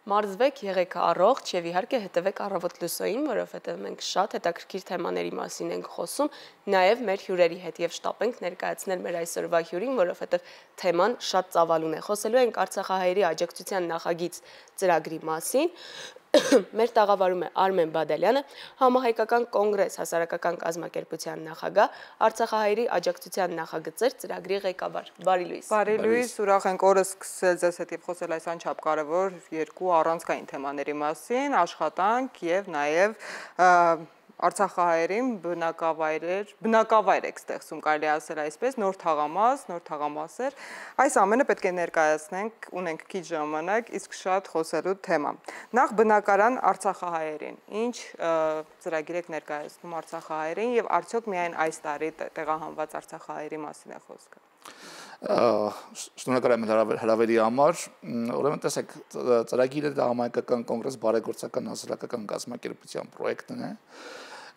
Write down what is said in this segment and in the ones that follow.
Մարզվեք, եղեք առողջ եւ իհարկե հետևեք Առավոտ լուսոյին, որովհետեւ մենք շատ հետաքրքիր թեմաների մասին ենք խոսում, նաեւ մեր հյուրերի հետ եւ շտապ ենք ներկայացնել մեր այսօրվա հյուրին, որովհետեւ թեման շատ ծավալուն է։ Խոսելու ենք Արցախահայերի աջակցության նախագիծ ծրագրի մասին։ Մեր տաղավարում է Արմեն Բադալյանը, Համահայկական կոնգրես հասարակական կազմակերպության նախագահ, Արցախահայերի աջակցության նախագծեր ծրագրի ղեկավար։ Բարի լույս։ Բարի լույս, ուրախ ենք օրը սկսել ձեզ հետ եւ խոսել այս անչափ կարևոր երկու առանցքային թեմաների մասին, աշխատանք եւ նաեւ Արցախահայերին բնակավայր եք ստեղծում, կարելի ասել այսպես, նոր թաղամասեր, այս ամենը պետք է ներկայացնենք, ունենք քիչ ժամանակ, իսկ շատ խոսելու թեմա։ Նախ բնակարան Արցախահայերին, ինչ ծրագիր եք ներկայացնում Արցախահայերին եւ արդյոք միայն այս տարի տեղահանված Արցախահայերի մասին է խոսքը։ Շնորհակալ եմ հրավերի համար, ուրեմն տեսեք, ծրագիրը դա Համահայկական կոնգրես բարեգործական հասարակական կազմակերպության պրոյեկտն է։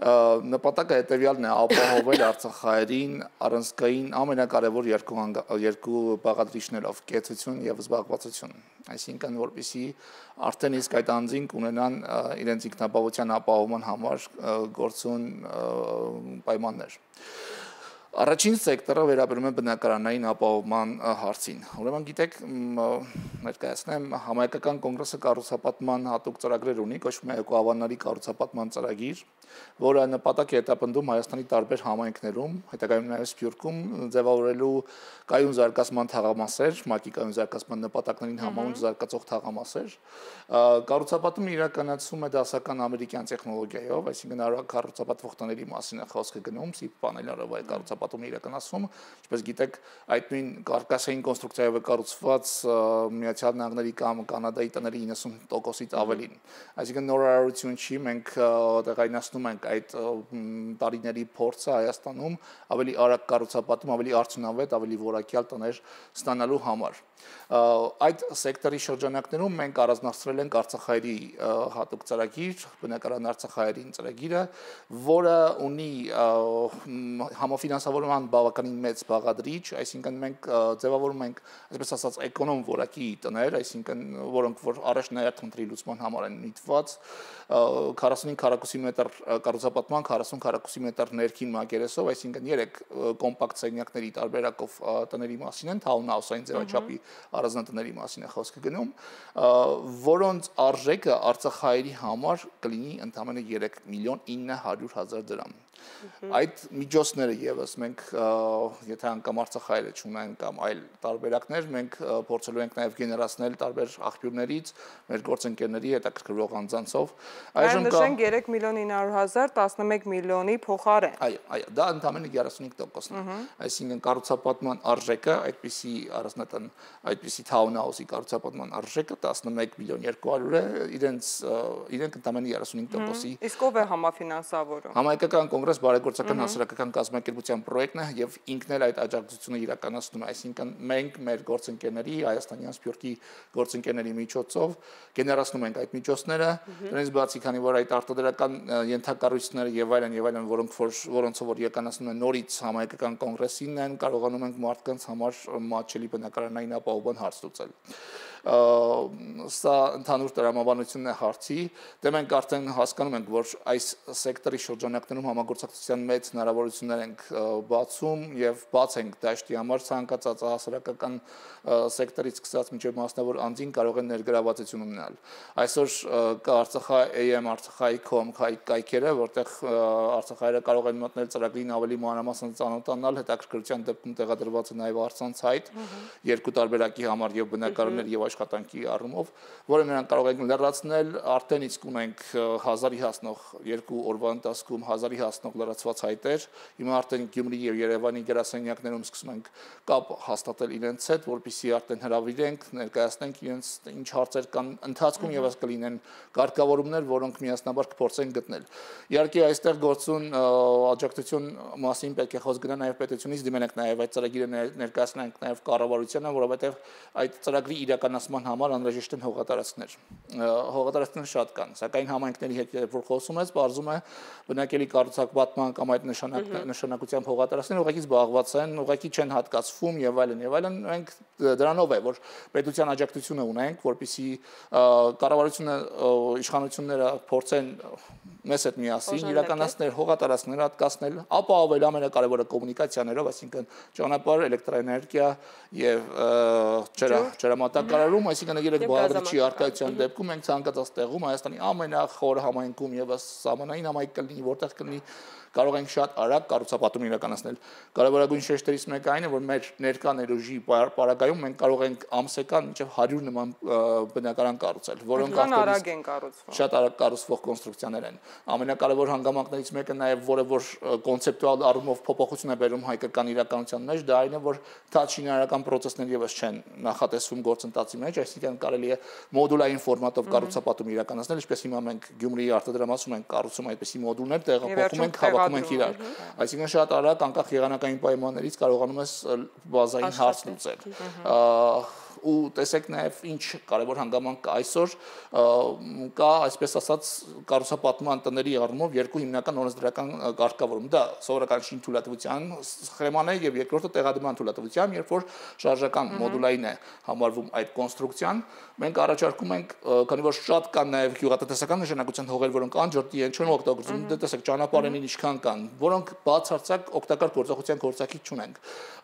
Նպատակը հետևյալն է ապահովել Արցախահայերին առանցքային ամենակարևոր երկու բաղադրիչներով՝ կեցություն եւ զբաղվածություն, այսինքն որպեսզի արդեն իսկ այդ անձինք ունենան իրենց ինքնաբավության ապահովման համար գործուն պայմաններ։ Առաջին սեկտորը վերաբերում է բնակարանային ապահովման հարցին։ Ուրեմն գիտեք, ներկայացնեմ, Համահայկական կոնգրեսը կառուցապատման հատուկ ծրագրեր ունի, կոչվում է Էկոավանների կառուցապատման ծրագիր, որը նպատակ է հետապնդում Հայաստանի տարբեր համայնքներում, հետագայում նաև Սփյուռքում ձևավորելու կայուն զարգացման թաղամասեր, ՄԱԿ-ի կայուն զարգացման նպատակներին համահունչ զարգացող թաղամասեր։ Կառուցապատումը իրականացվում է դասական ամերիկյան տեխնոլոգիայով, այսինքն կառուցապատվող տների մասին է խոսքը գնում, սիպ պանելներով է կառուցապատումը իրականացվում, ինչպես գիտեք, այդ նույն կարկասային կոնստրուկցիայով է կառուցված Միացյալ Նահանգների կամ Կանադայի տների 90%-ից ավելին։ Այսինքն նորարարություն չի, մենք տեղայնացնում ենք այդ տարիների փորձը Հայաստանում ավելի արագ կառուցապատում, ավելի արդյունավետ, ավելի որակյալ տներ ստանալու համար։ Այդ սեկտորի շրջանակներում մենք առանձնացրել ենք Արցախահայերի հատուկ ծրագիր, բնակարան Արցախահայերին ծրագիրը, որը ունի համաֆինանսավորման բավականին մեծ բաղադրիչ, այսինքն մենք ձևավորում ենք, այսպես ասած, էկոնոմ որակի տներ, այսինքն որոնք որ առաջնահերթ խնդրի լուծման համար են միտված, 45 քառակուսի մետր կառուցապատման, 40 քառակուսի մետր ներքին մակերեսով, այսինքն 3 կոմպակտ սենյակների տարբերակով տների մասին են, townhouse-ային ձևաչափի առանձնատների մասին է խոսքը գնում, որոնց արժեքը Արցախահայերի համար կլինի ընդամենը 3 միլիոն 900 հազար դրամ։ Այդ միջոցները եւս մենք, եթե անգամ Արցախահայերը չունեն կամ այլ տարբերակներ, մենք փորձելու ենք նաեւ գեներացնել տարբեր աղբյուրներից, մեր գործընկերների հետաքրքրող անձանցով։ Այժմ նշենք 3 միլիոն 900 հազար 11 միլիոնի փոխարեն։ Այո, դա ընդամենը 35%-ն է։ Այսինքն կառուցապատման արժեքը, այդպիսի առանձնատան, այդպիսի townhouse-ի կառուցապատման արժեքը 11 միլիոն 200 է, իրենք ընդամենը 35%-ի։ Իսկ ով է համաֆինանսավորում։ Համահայկական կոնգրես բարեգործական հասարակական կազմակերպության պրոյեկտն է եւ ինքն էլ այդ աջակցությունը իրականացնում է, այսինքն մենք մեր գործընկերների, հայաստանյան Սփյուռքի գործընկերների միջոցով գեներացնում ենք այդ միջոցները, դրանից բացի, քանի որ այդ արտադրական ենթակառույցները եւ այլն, որոնցով որ իրականացնում են նորից Համահայկական կոնգրեսին են, կարողանում ենք մարդկանց համար մատչելի բնակարանային ապահովման հարց լուծել։ Սա ընդհանուր տրամաբանությունն է հարցի, դե մենք արդեն հասկանում ենք, որ այս սեկտորի շրջանակներում համագործակցության մեծ հնարավորություններ ենք բացում եւ բաց ենք դաշտի համար ցանկացած հասարակական սեկտորից սկսած մինչեւ մասնավոր անձին կարող են ներգրավվածություն ունենալ։ Այսօր կա Artsakha.am, Artsakha.com կայքերը, որտեղ Արցախահայերը կարող են մտնել ծրագրին ավելի մանրամասն ծանոթանալ, հետաքրքրության դեպքում տեղադրված է նաեւ առցանց հայտ երկու տարբերակի համար եւ բնակարաններ եւ աշխատանքի առումով, որը նրանք կարող են լրացնել, արդեն իսկ ունենք 1000-ի հասնող երկու օրվա ընթացքում 1000-ի հասնող լրացված հայտեր, հիմա արդեն Գյումրի եւ Երևանի գրասենյակներում սկսում ենք կապ հաստատել իրենց հետ, որպեսզի արդեն հրավիրենք, ներկայացնենք իրենց ինչ հարցեր կան ընթացքում եւս կլինեն կարգավորումներ, որոնք միասնաբար կփորձեն գտնել։ Իհարկե այստեղ գործուն աջակցություն մասին պետք է խոսք գնա նաեւ պետությունից, դիմենք նաեւ այդ ծրագիրը ներկայացնենք նաեւ կառավարությանը, որովհետեւ այդ ծրագրի իրականացումը իրականացման համար անհրաժեշտ են հողատարածքներ։ Հողատարածքներ շատ կան, սակայն համայնքների հետ որ խոսում ես, բարձում է բնակելի կառուցապատման կամ այդ նշանակությամբ հողատարածքներ ուղղակի զբաղված են, ուղղակի չեն հատկացվում եւ այլն եւ այլն։ Մենք դրանով է, որ պետության աջակցությունը ունենք, որպեսզի կառավարությունը իշխանությունները փորձեն մեզ հետ միասին իրականացնել հողատարածքներ հատկացնել, ապահովել ամենակարևորը կոմունիկացիաներով, այսինքն ճանապարհ, էլեկտրաէներգիա եւ ջրամատակարարում, այսինքն երեք բաղադրիչի արկայության դեպքում մենք ցանկացած տեղում Հայաստանի ամենախոր համայնքում եւս սահմանային համայնք կլինի, որտեղ կլինի կարող ենք շատ արագ կառուցապատում իրականացնել։ Կարևորագույն շեշտերից մեկը այն է, որ մեր ներկա ներուժի պարագայում մենք կարող ենք ամսական մինչև 100 նման բնակարան կառուցել, որոնք արագ են կառուցվում։ Շատ արագ կառուցվող կոնստրուկցիաներ են։ Ամենակարևոր հանգամանքներից մեկը նաև, որը որ կոնցեպտուալ առումով փոփոխություն է բերում հայկական իրականության մեջ, դա այն է, որ թաց շինարարական process-ներ եւս չեն նախատեսվում գործընթացի մեջ, այսինքն կարելի է մոդուլային ֆորմատով կառուցապատում իրականացնել, ինչպես հիմա մենք Գյումրիի արտադրամասում ենք կառուցում այդպիսի մոդուլներ, տեղափոխում ենք, հավաքում ենք իրար։ Այսինքն շատ արագ անկախ եղանակային պայմաններից կարողանում ես բազային հարց լուծել։ Ու տեսեք նաև ինչ կարևոր հանգամանք կա այսօր կա այսպես ասած կառուցապատման տների առումով երկու հիմնական օրենսդրական կարգավորում դա սովորական շին թույլատվության սխեման է եւ երկրորդը տեղադրման թույլատվության երբ որ շարժական մոդուլային է համարվում այդ կոնստրուկցիան մենք առաջարկում ենք քանի որ շատ կան նաև գյուղատնտեսական նշանակության հողեր որոնք անջրտի են չեն օգտագործում դե տեսեք ճանապարհերին ինչքան կան որոնք բացարձակ օգտակար գործողության գործակից չունենք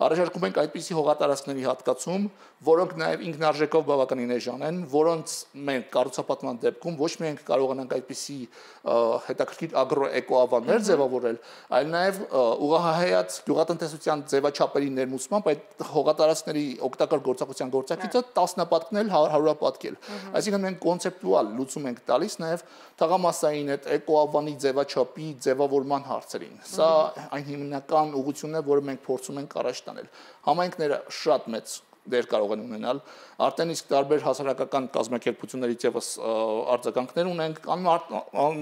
առաջարկում ենք այդպիսի հողատարածքների հատկացում որոնք նաև ինքնարժեքով բավականին էժան են, որոնց մենք կառուցապատման դեպքում ոչ միայն կարողանանք այդպիսի հետաքրքիր ագրոէկոավաններ ձևավորել, այլ նաև ուղղահայաց գյուղատնտեսության ձևաչափերի ներմուծմամբ այդ հողատարածքների օգտակար գործողության գործակիցը տասնապատկնել, հարյուրապատկել։ Այսինքն մենք կոնցեպտուալ լուծում ենք տալիս նաև թաղամասային այդ էկոավանի ձևաչափի ձևավորման հարցերին։ Սա այն հիմնական ուղղությունն է, որը մենք փորձում ենք առաջ տանել։ Համայնքները շատ մեծ դեր կարող են ունենալ արդեն իսկ տարբեր հասարակական կազմակերպություններից եւս արձագանքներ ունենք կան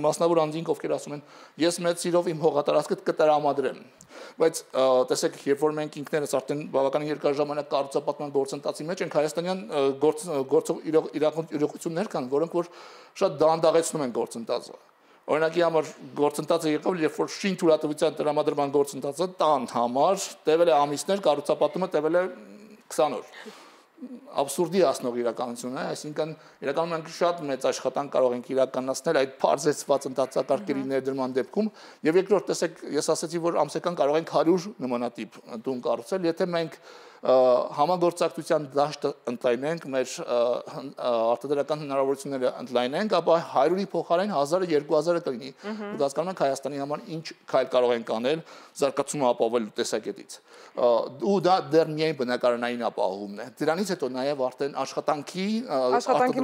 մասնավոր անձինք ովքեր ասում են ես մեծ սիրով իմ հողատարածքը կտրամադրեմ բայց տեսեք երբ որ մենք ինքներս արդեն բավականին երկար ժամանակ կառուցապատման գործընթացի մեջ ենք հայաստանյան իրողություններ կան որոնք որ շատ դանդաղեցնում են գործընթացը Օրինակի համար գործընթացը եղավ, երբ որ շին թույլատվության տրամադրման գործընթացը տան համար տևել է ամիսներ, կառուցապատումը տևել է 20 օր։ Абսուրդի հասնող իրականություն է, այսինքն իրականում մենք շատ մեծ աշխատանք կարող ենք իրականացնել այդ բարձրացված ընթացակարգերի ներդրման դեպքում եւ երկրորդ տեսեք ես ասացի որ ամսական կարող ենք 100 նմանատիպ տուն կառուցել, եթե մենք համագործակցության դաշտը ընդլայնենք, մեր արտադրական հնարավորությունները ընդլայնենք, ապա 100-ի փոխարեն 1000-ը 2000-ը կլինի։ Ու հասկանում եք Հայաստանի համար ինչ քայլ կարող ենք անել զարգացումը ապահովելու տեսակետից։ Ու դա դեռ միայն բնակարանային ապահովումն է։ Դրանից հետո նաև արդեն աշխատանքի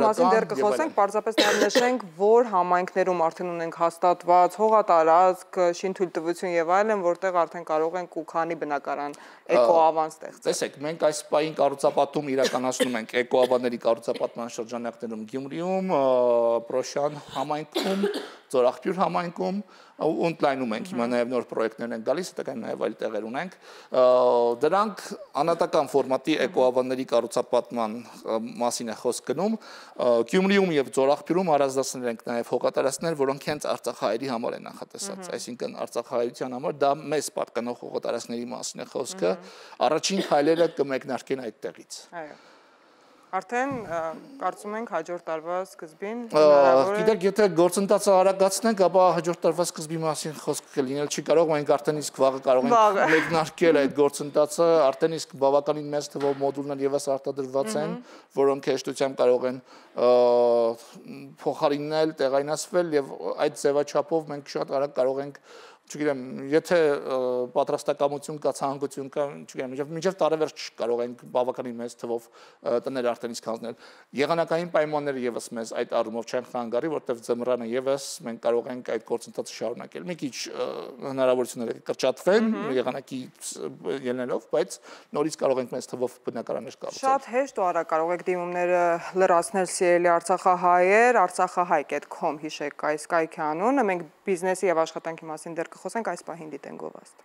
մասին դեռ կխոսենք, պարզապես նաև նշենք, որ համայնքներում արդեն ունենք հաստատված հողատարածք, շինթույլտվություն եւ այլն, որտեղ արդեն կարող ենք ու քանի բնակարան էկոավան ստեղծել։ Մենք այս պահին կառուցապատում իրականացնում ենք էկոավանների կառուցապատման շրջանակներում Գյումրիում, Պրոշյան համայնքում, Ձորախբյուր համայնքում ու ընդլայնում ենք հիմա նաև նոր պրոյեկտներ են գալիս, հետագայում նաև այլ տեղեր ունենք։ Դրանք անհատական ֆորմատի էկոավանների կառուցապատման մասին է խոսք գնում։ Գյումրիում եւ Ձորախբյուրում առանձնացնել ենք նաև հողատարածքներ, որոնք հենց արցախահայերի համար են նախատեսված, այսինքն արցախահայության համար դա մեծ պատկանող հողատարածքների մասին է խոսքը։ Առաջին քայլերը կմեկնարկեն այդտեղից։ Այո։ Արդեն կարծում ենք հաջորդ տարվա սկզբին հնարավոր է։ Գիտեք, եթե գործընթացը արագացնենք, ապա հաջորդ տարվա սկզբի մասին խոսք կլինել չի կարող, մենք արդեն իսկ վաղը կարող ենք մեկնարկել այդ գործընթացը, արդեն իսկ բավականին մեծ թվով մոդուլներ եւս արտադրված են, որոնք հեշտությամբ կարող են փոխարինել, տեղայնացվել եւ այդ ձևաչափով մենք շատ արագ կարող ենք չգիտեմ, եթե պատրաստակամություն կա, ցանկություն կա, չգիտեմ, մինչև տարեվերջ կարող ենք բավականին մեծ թվով տներ արդեն իսկ հանձնել։ Եղանակային պայմանները եւս մեզ այդ առումով չեն խանգարի, որտեղ ձմռանը եւս մենք կարող ենք այդ գործընթացը շարունակել։ Մի քիչ հնարավորությունները կրճատվեն եղանակի ելնելով, բայց նորից կարող ենք մեծ թվով բնակարաններ կառուցել։ Շատ հեշտ ու արագ կարող եք դիմումները լրացնել սիրելի արցախահայեր, artsakhahay.com հիշեք այս կայքի անունը, մենք բիզնեսի եւ աշխատանքի մասին դեռ կխոսենք այս պահին դիտեն գովաստ։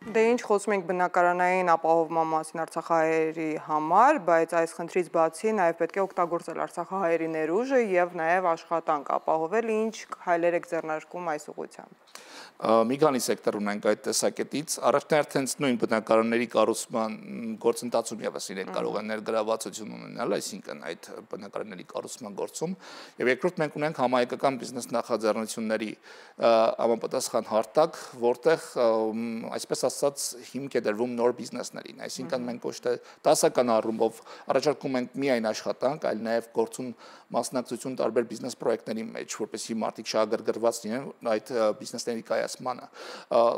Դե ինչ խոսում ենք բնակարանային ապահովման մասին արցախահայերի համար, բայց այս խնդրից բացի նաև պետք է օգտագործել արցախահայերի ներուժը եւ նաև աշխատանք ապահովել, ինչ քայլեր եք ձեռնարկում այս ուղղությամբ։ Մի քանի սեկտոր ունենք այդ տեսակետից, առաջնահերթ նույն բնակարանների կառուցման գործընթացում եւս իրենք կարող են ներգրավվածություն ունենալ, այսինքն այդ բնակարանների կառուցման գործում, եւ երկրորդ մենք ունենք համահայկական բիզնես նախաձեռնությունների համապատասխան հարթակ, որտեղ այսպես ասած հիմք է դրվում նոր բիզնեսներին, այսինքն մենք ոչ թե դասական առումով առաջարկում ենք միայն աշխատանք, այլ նաեւ գործուն մասնակցություն տարբեր բիզնես պրոյեկտների մեջ, որպեսզի մարդիկ շահագրգռված լինեն այդ բիզնեսների կայացմանը։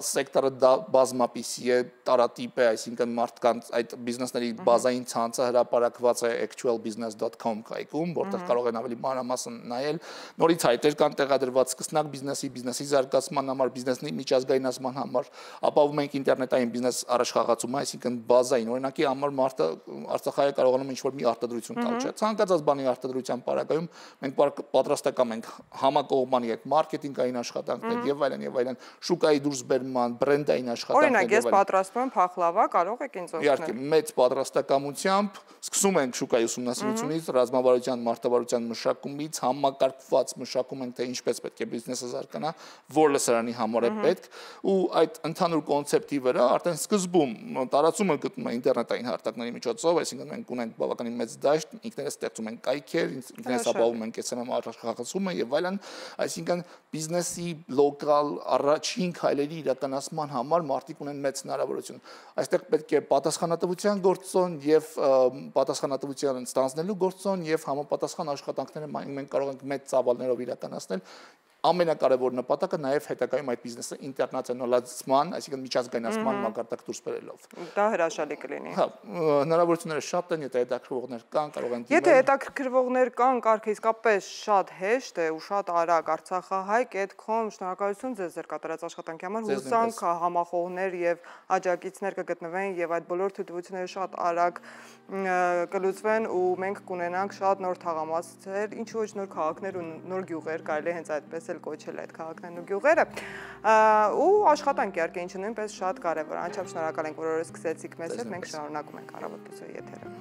Սեկտորը բազմապիսի է, տարատիպ է, այսինքն մարդկանց այդ բիզնեսների բազային ցանցը հրապարակված է actualbusiness.com կայքում, որտեղ կարող են ավելի մանրամասն նայել, նորից հայտեր կան տեղադրված սկսնակ բիզնեսի զարգացման համար, բիզնեսի միջազգայնացման համար, ապահովում ենք ինտերնետային բիզնես առաջխաղացումը, այսինքն բազային, օրինակի համար մարդը Արցախահայը կարողանում ինչ-որ մի արտադրություն տալ, չէ՞։ Ցանկացած բանի արտադրության պարագայում մենք պատրաստական ենք համակողմանի հետ մարքեթինգային աշխատանքներ եւ այլն, շուկայի դուրսբերման, բրենդային աշխատանքներ։ Օրինակ, ես պատրաստում եմ փախլավա, կարող եք ինձ օգնել։ Իհարկե, մեծ պատրաստակամությամբ սկսում ենք շուկայի ուսումնասիրությունից, ռազմավարության, մարտավարության մշակումից, համակարգված մշակում ենք, թե ինչպես պետք է բիզնեսը զարգանա, որ լսարանի համար է պետք, ու այդ ընդհանուր կոնցեպտի վրա արդեն սկզբում տարածումը գտնում է ինտերնետային հարթակների միջոցով, այսինքն մենք ունենք բավականին մեծ դաշտ, ինքներս ստեղծում ենք կայքեր, ինքներս ապահովում ենք SMM առաջխաղացումը եւ այլն, այսինքն բիզնեսի լոկալ առաջին քայլերի իրականացման համար մարդիկ ունեն մեծ հնարավորություն։ Այստեղ պետք է պատասխանատվության գործոն եւ պատասխանատվության ստանձնելու գործոն եւ համապատասխան աշխատանքները մենք կարող ենք մեծ ծավալներով իրականացնել։ Ամենակարևոր նպատակը նաև հետագայում այդ բիզնեսը ինտերնացիոնալացման, այսինքն միջազգայնացման մակարդակ դուրս բերելով։ Դա հրաշալի կլինի։ Հա, հնարավորությունները շատ են, եթե հետաքրքրողներ կան, կարող են դիմել։ Եթե հետաքրքրողներ կան, կարգը իսկապես շատ հեշտ է ու շատ արագ artsakhahay.com, շնորհակալություն ձեզ ձեր կատարած աշխատանքի համար, հուսանք համախոհներ եւ աջակիցներ կգտնվեն եւ այդ բոլոր թույլտվությունները շատ արագ կլուծվեն ու մենք կունենանք շատ նոր թաղամասեր, ինչ ոչ նոր քաղաքներ ու նոր գյուղեր, կարելի է հենց այդպես էլ կոչել այդ քաղաքներն ու գյուղերը, ու աշխատանք իհարկե, ինչը նույնպես շատ կարևոր է։ Անչափ շնորհակալ ենք, որ օրը սկսեցիք մեզ հետ, մենք շարունակում ենք Առավոտ լուսոյի եթերը։